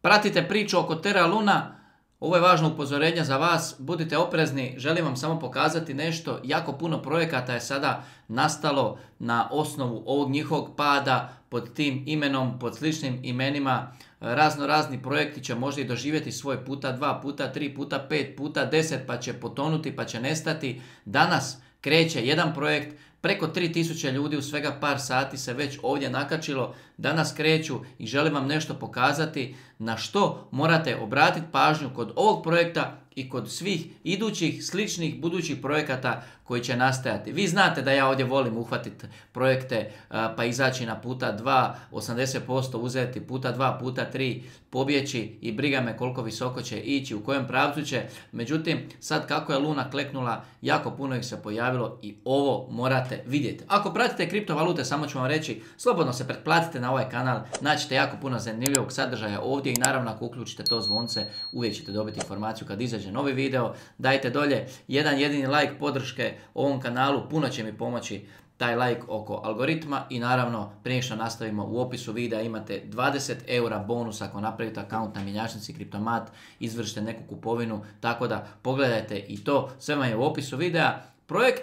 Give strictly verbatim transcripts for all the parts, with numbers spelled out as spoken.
pratite priču oko Terra Luna. Ovo je važno upozorenje za vas, budite oprezni, želim vam samo pokazati nešto, jako puno projekata je sada nastalo na osnovu ovog njihovog pada pod tim imenom, pod sličnim imenima, razno razni projekti će možda i doživjeti svoj puta dva, puta tri, puta pet, puta deset, pa će potonuti, pa će nestati. Danas kreće jedan projekt, preko tri tisuće ljudi u svega par sati se već ovdje nakačilo, danas kreću i želim vam nešto pokazati na što morate obratiti pažnju kod ovog projekta i kod svih idućih, sličnih, budućih projekata koji će nastajati. Vi znate da ja ovdje volim uhvatiti projekte pa izaći na puta dva, osamdeset posto uzeti, puta dva, puta tri, pobjeći i briga me koliko visoko će ići, u kojem pravcu će. Međutim, sad kako je Luna kleknula, jako puno ih se pojavilo i ovo morate vidjeti. Ako pratite kriptovalute, samo ću vam reći, slobodno se pretplatite na ovaj kanal, naćete jako puno zanimljivog sadržaja ovdje i naravno ako uključite to zvonce, uvijek ćete dobiti informaciju kad izađe novi video. Dajte dolje jedan jedini like podrške ovom kanalu, puno će mi pomoći taj like oko algoritma i naravno prije što nastavimo u opisu videa imate dvadeset eura bonus ako napravite akaunt na mjenjačnici Kriptomat, izvršite neku kupovinu, tako da pogledajte i to, sve vam je u opisu videa. Projekt,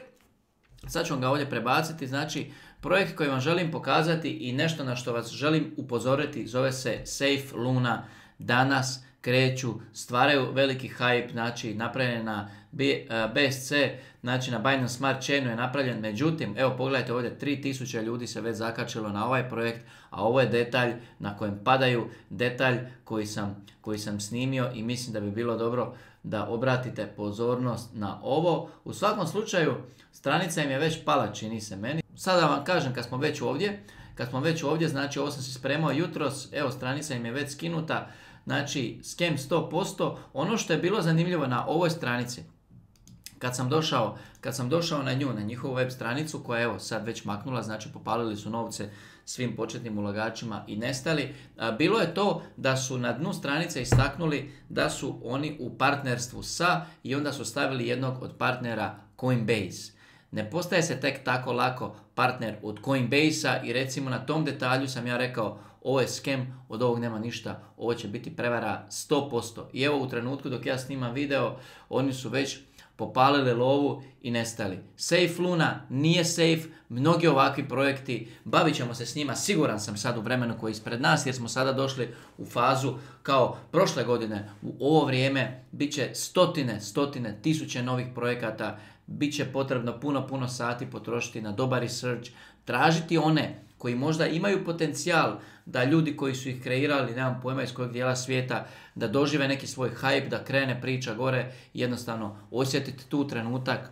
sad ću vam ga ovdje prebaciti, znači projekt koji vam želim pokazati i nešto na što vas želim upozoriti zove se Safe Luna. Danas kreću, stvaraju veliki hype, znači napravljen na B S C, znači na Binance Smart Chainu je napravljen, međutim, evo pogledajte ovdje, tri tisuće ljudi se već zakačilo na ovaj projekt, a ovo je detalj na kojem padaju, detalj koji sam, koji sam snimio i mislim da bi bilo dobro da obratite pozornost na ovo. U svakom slučaju, stranica im je već pala, čini se meni. Sada vam kažem, kad smo već ovdje, kad smo već ovdje, znači ovo sam si spremao jutros, evo stranica im je već skinuta, znači scam sto posto. Ono što je bilo zanimljivo na ovoj stranici, kad sam došao, kad sam došao na nju, na njihovu web stranicu koja je evo sad već maknula, znači popalili su novce svim početnim ulagačima i nestali, bilo je to da su na dnu stranice istaknuli da su oni u partnerstvu sa i onda su stavili jednog od partnera Coinbase. Ne postaje se tek tako lako partner od Coinbase-a i recimo na tom detalju sam ja rekao ovo je scam, od ovog nema ništa, ovo će biti prevara sto posto. I evo u trenutku dok ja snimam video, oni su već popalili lovu i nestali. Safe Luna nije safe, mnogi ovakvi projekti, bavit ćemo se s njima, siguran sam sad u vremenu koji je ispred nas, jer smo sada došli u fazu kao prošle godine, u ovo vrijeme bit će stotine, stotine, tisuće novih projekata, bit će potrebno puno, puno sati potrošiti na dobar research, tražiti one koji možda imaju potencijal da ljudi koji su ih kreirali, nemam pojma iz kojeg dijela svijeta, da dožive neki svoj hype, da krene priča gore, jednostavno osjetiti tu trenutak,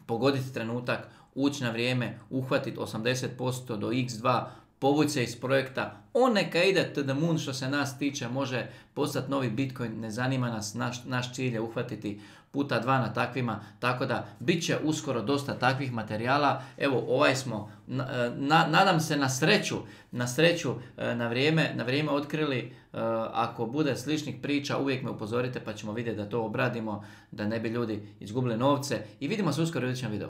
pogoditi trenutak, ući na vrijeme, uhvatiti osamdeset posto do iks dva, povući se iz projekta, on neka ide to the moon što se nas tiče, može postati novi Bitcoin, ne zanima nas, naš, naš cilj je uhvatiti puta dva na takvima, tako da bit će uskoro dosta takvih materijala. Evo ovaj smo, na, nadam se na sreću, na sreću na vrijeme, na vrijeme otkrili, ako bude sličnih priča uvijek me upozorite pa ćemo vidjeti da to obradimo, da ne bi ljudi izgubili novce i vidimo se uskoro u idućem videu.